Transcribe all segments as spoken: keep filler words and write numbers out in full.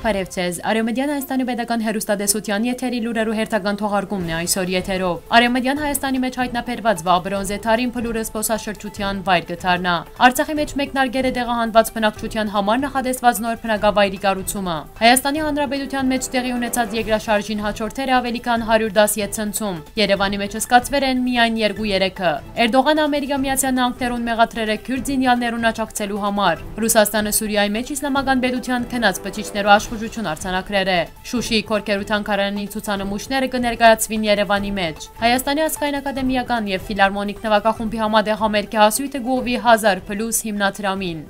Բարեւ ձեզ։ Արեւմտեան Հայաստանի պետական հեռուստատեսութեան եթերի լուրերու հերթական թողարկումն է այսօր եթերով։ Արեւմտեան Հայաստանի մէջ յայտնաբերուած Վաբրոնզե Թարին փլուրը զբօսաշրջութեան վայր կը դառնայ։ Արցախի մէջ մեկնարկեր է տեղահանուած բնակչութեան համար նախատեսուած նոր բնակավայրի կառուցումը։ Հայաստանի Հանրապետութեան մէջ տեղի ունեցած երկրաշարժին հաջորդեր է աւելի քան հարիւր դաս յետ ցնցում։ Երեւանի մէջ սկացուեր են միայն երկու երեքը։ Էրդողանը Ամերիկա Միացեալ Նահանգներուն մեղադրեր է քիւրտ զինեալներուն աջակցելու համար։ Ռուսաստանը Սուրիայի մէջ Իսլամական պետութեան քնած բջիջներու աշխուժութիւն արձանագրեր է։ Շուշիի Քորքերու թանգարանի ցուցանմուշները կը ներկայացուին Երեւանի մէջ։ Հայաստանի ազգային ակադեմիական եւ ֆիլարմոնիկ նուագախումբի համատեղ համերգի հասոյթը կուղղուի հազար պլյուս հիմնադրամին։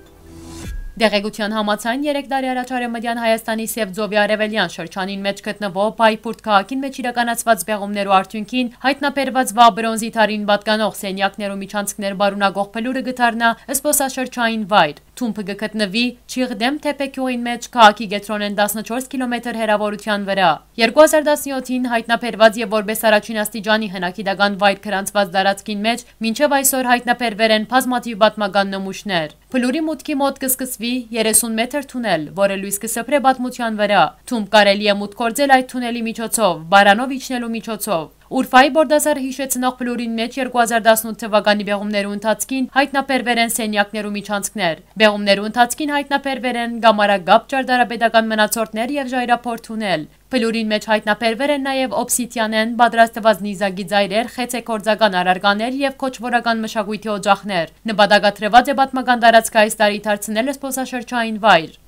Տեղեկութեան համաձայն, երեք տարի առաջ Արեւմտեան Հայաստանի Սեւ ծովի արեւելեան շրջանին մէջ գտնուող Պայփուրտ քաղաքին մէջ իրականացուած պեղումներու արդիւնքին յայտնաբերուած Վաբրոնզի Թարին պատկանող սենեակներու միջանցքներ պարունակող փլուրը կը դառնայ զբօսաշրջային վայր։ Թումբը կը գտնուի Չիղդեմ Թեփե գիւղին մէջ, քաղաքի կեդրոնէն տասնչորս քիլոմեթր հեռաւորութեան վրայ։ Երկու հազար տասնեօթին յայտնաբերուած եւ որպէս առաջին աստիճանի հնագիտական վայր գրանցուած տարածքին մէջ մինչեւ այսօր յայտնաբերուեր են բազմաթիւ պատմական նմուշներ։ Փլուրի մուտքի մօտ կը սկսուի երեսուն մեթր թունել, որը լոյս կը սփռէ պատմութեան վրայ։ Թումբ կարելի է մուտք գործել այդ թունելի միջոցով, բարանով իջնելու միջոցով։ Ուրֆայի Բորդասարը յիշեցնող փլուրին մէջ երկու հազար տասնութ թվականի պեղումներու ընթացքին յայտնաբերուեր են սենեակներու միջանցքներ։ Պեղումներու ընթացքին յայտնաբերուեր են կամարակապ ճարտարապետական մնացորդներ եւ ժայռափոր թունել։ Փլուրին մէջ յայտնաբերուեր են նաեւ օբսիդիանէն պատրաստուած նիզակի ծայրեր, խեցեգործական առարկաներ եւ քոչվորական մշակոյթի օճախներ։ Նպատակադրուած է պատմական տարածքը այս տարի դարձնել զբօսաշրջային վայր։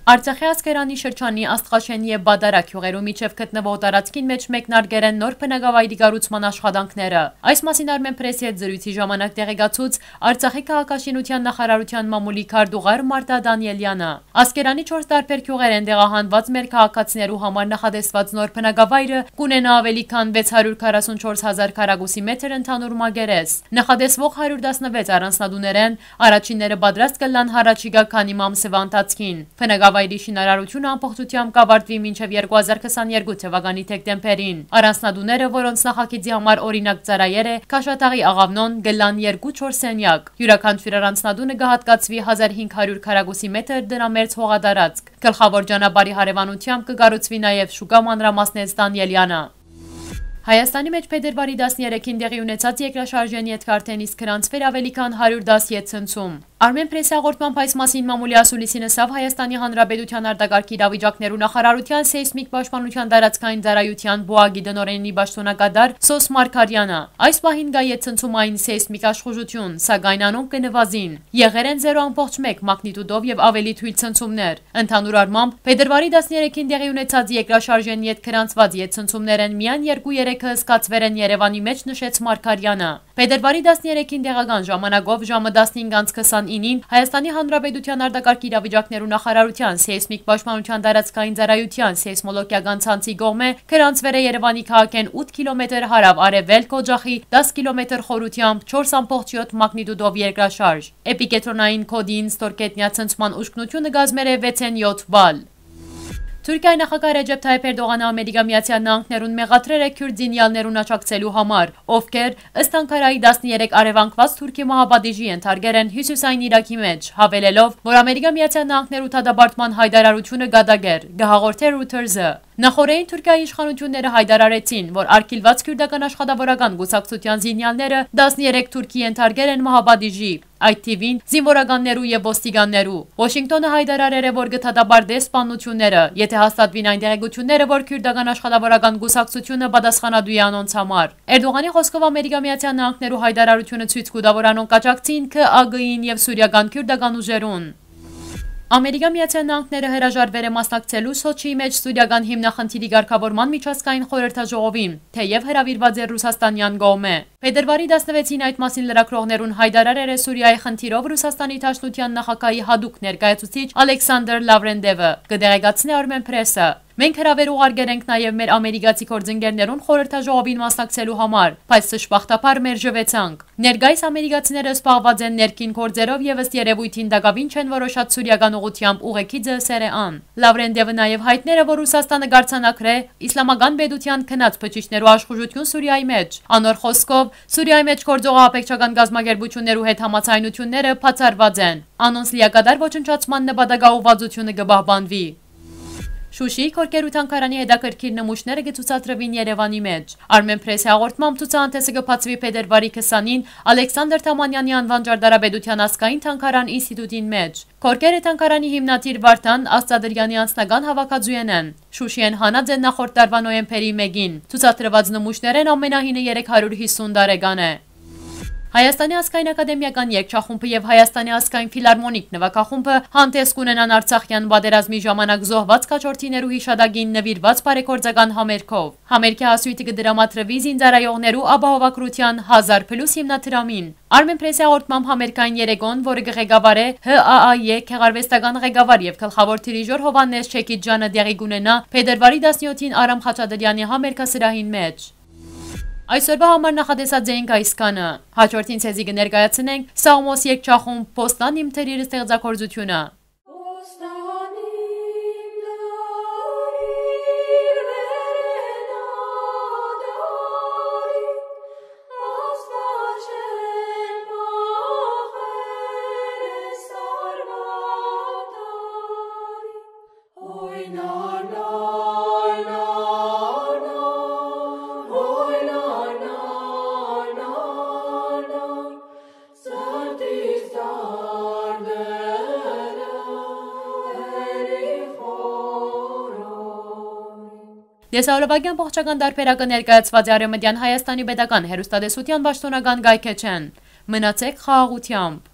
Արցախի Ասկերանի շրջանի Աստղաշեն եւ Բադարա գիւղերու միջեւ գտնուող տարածքին մէջ մեկնարկեր են նոր բնակավայրի կառուցման աշխատանքները։ Այս մասին Արմեն Պրեսի հետ զրոյցի ժամանակ տեղեկացուց Արցախի քաղաքաշինութեան նախարարութեան մամուլի քարտուղար Մարտա Դանիելյանը։ Ասկերանի չորս տարբեր գիւղերէն տեղահանուած մեր քաղաքացիներու համար նախատեսուած նոր բնակավայրը կունենայ աւելի քան վեց հարիւր քառասունչորս հազար քառակուսի մեթր ընդհանուր մակերես։ Նախատեսուող հարիւր տասնվեց առանձնատուներէն առաջինները պատրաստ կ'ըլլան յառաջիկայ քանի ամսեան ընթացքին։ Բնակավայրի շինարարութիւնը ամբողջութեամբ կ'աւարտուի մինչեւ երկու հազար քսաներկու թվականի դեկտեմբերին։ Առանձնատուները, որոնց նախագիծի համար օրինակ ծառայեր է Քաշաթաղի աղաւնոն, կ'ըլլան երկու-չորս սենեակ։ Իւրաքանչիւր առանձնատունը կը յատկացուի հազար հինգ հարիւր քառակուսի մեթր տնամերձ հողատարածք։ Գլխաւոր ճանապարհի հարեւանութեամբ կը կառուցուի նաեւ շուկա, մանրամասնեց Դանիելյանը։ Հայաստանի մէջ փետրուարի տասներեքին տեղի ունեցած երկրաշարժէն ետք արդէն իսկ գրանցուեր աւելի քան հարիւր դաս յետ ցնցում։ Արմեն Պրեսի հաղորդմամբ այս մասին մամուլի ասուլիսին ըսաւ Հայաստանի Հանրապետութեան արտակարգ իրավիճակներու նախարարութեան սեյսմիկ պաշտպանութեան տարածքային ծառայութեան պուակի տնօրէնի պաշտօնակատար Սոս Մարգարյանը։ Այս պահին կայ յետ ցնցումային սեյսմիկ աշխուժութիւն, սակայն անոնք կը նուազին։ Եղեր են զերո ամբողջ մէկ մագնիտուտով եւ աւելի թոյլ ցնցումներ։ Ընդհանուր առմամբ, փետրուարի տասներեքին տեղի ունեցած երկրաշարժէն ետք գրանցուած յետ ցնցումներէն միայն երկու երեքը զգացուեր են Երեւանի մէջ, նշեց Մարգարյանը։ Փետրուարի տասներեքին տեղական ժամանակով ժամը տասնհինգ անց քսանինին Հայաստանի Հանրապետութեան արտակարգ իրավիճակներու նախարարութեան սեյսմիկ պաշտպանութեան տարածքային ծառայութեան սեյսմոլոգիական ցանցի կողմէ գրանցուեր է Երեւանի քաղաքէն ութ քիլոմեթր հարաւ արեւելք օջախի դաս քիլոմեթր խորութեամբ չորս ամբողջ յոթ մագնիտուտով երկրաշարժ։ Էպիկետրոնային կոդին ստորգետնյա ցնցման ուժգնութիւնը կազմեր է վեցէն յոթ բալ։ Թուրքիայի նախագահ Ռեջեփ Թայեփ Էրդողանը Ամերիկա Միացեալ Նահանգներուն մեղադրեր է քիւրտ զինեալներուն աջակցելու համար, ովքեր, ըստ Անկարայի, տասներեք արեւանգուած Թուրքի մահապատիժի ենթարկեր են հիւսիսային Իրաքի մէջ, յաւելելով, որ Ամերիկա Միացեալ Նահանգներու դատապարտման յայտարարութիւնը կատակ էր, կը հաղորդէ Reuters-ը։ Նախօրէին Թուրքիայի իշխանութիւնները յայտարարեցին, որ արգիլված քիւրտական աշխատաւորական կուսակցութեան զինեալները տասներեք Թուրքի ենթարկեր են մահապատիժի, այդ թիւին զինուորականներու եւ ոստիկաններու։ Ուաշինկտոնը յայտարարեր է, որ կը դատապարտէ սպաննութիւնները, եթէ հաստատուին այն տեղեկութիւնները, որ քիւրտական աշխատաւորական կուսակցութիւնը պատասխանատու է անոնց համար։ Էրդողանի խօսքով Ամերիկա Միացեալ Նահանգներու յայտարարութիւնը ցոյց կու տայ, որ անոնք կաջակցին Ք Ա Գ-ին եւ սուրիական քիւրտական ուժերուն։ Ամերիկա Միացեալ Նահանգները հրաժարվեր է մասնակցելու Սոչիի մէջ սուրիական հիմնախնդիրի կարգաւորման միջազգային խորհրդաժողովին, թէեւ հրաւիրուած էր ռուսաստանեան կողմէ։ Փետրուարի տասնվեցին այդ մասին լրագրողներուն յայտարարեր է Սուրիայի խնդիրով Ռուսաստանի Դաշնութեան նախագահի յատուկ ներկայացուցիչ Ալեքսանդր Լավրենտևը, կը տեղեկացնէ Արմեն Պրեսը։ Մենք հրաւեր ուղարկեր ենք նաեւ մեր ամերիկացի գործընկերներուն խորհրդաժողովին մասնակցելու համար, բայց դժբախտաբար մերժուեցանք։ Ներկայիս ամերիկացիները զբաղված են ներքին գործերով եւ ըստ երեւոյթին տակաւին չեն որոշած սուրիական ուղղութեամբ ուղեկիցը սերեան։ Լավրենտևը նաեւ յայտներ է, որ Ռուսաստանը կարձանագրէ Իսլամական պետութեան քնած բջիջներու աշխուժութիւն Սուրիայի մէջ։ Անոր խօսքով, Սուրիայի մէջ գործող ահաբեկչական կազմակերպութիւններու հետ համաձայնութիւնները բացառուած են։ Անոնց լիակատար ոչնչացման նպատակաուղղվածութիւնը կը պահպանուի։ Շուշիի Քորքեր ու թանգարանի հետաքրքիր նմուշները կը ցուցադրուին Երեւանի մէջ։ Արմէն Պրեսի հաղորդմամբ, ցուցահանդէսը կը բացուի փետրուարի քսանին Ալեքսանդր Թամանեանի անուան ճարտարապետութեան ազգային թանգարան ինստիտուտին մէջ։ Քորքերը թանգարանի հիմնադիր Վարդան Աստատրեանի անձնական հաւաքածուէն են։ Շուշիէն հանած են նախորդ տարուայ նոյեմբերի մէկին։ Ցուցադրուած նմուշներէն ամենահինը երեք հարիւր յիսուն տարեկան է։ Հայաստանի ազգային ակադեմիական երգչախումբը եւ Հայաստանի ազգային ֆիլարմոնիկ նուագախումբը հանդես կ'ունենան Արցախեան պատերազմի ժամանակ զոհուած քաջորդիներու յիշատակին նուիրուած բարեգործական համերգով։ Համերգի հասոյթը կը դրամատրուի զինծառայողներու ապահովագրութեան հազար պլյուս հիմնադրամին։ Արմէն Պրեսի հաղորդմամբ, համերգային երեկոն, որը կը ղեկավարէ Հ Ա Ա Ե գեղարուեստական ղեկավար եւ գլխաւոր դիրիժոր Յովհաննէս Չեքիջյանը, տեղի կ'ունենայ փետրուարի տասնեթին Արամ Խաչատրեանի համերգասրահին մէջ։ Այսօրուայ համար նախատեսած էինք այսքանը։ Հաջորդին ձեզի կը ներկայացնենք Սաղմոս երգչախումբ Պոստան իմ թրիր ստեղծագործութիւնը։ Լեսաուլովակեան ողջական տարբերակը ներկայացուած է Արեւմտեան Հայաստանի պետական հեռուստատեսութեան պաշտօնական կայքէջէն։ Մնացեք խաղաղութեամբ։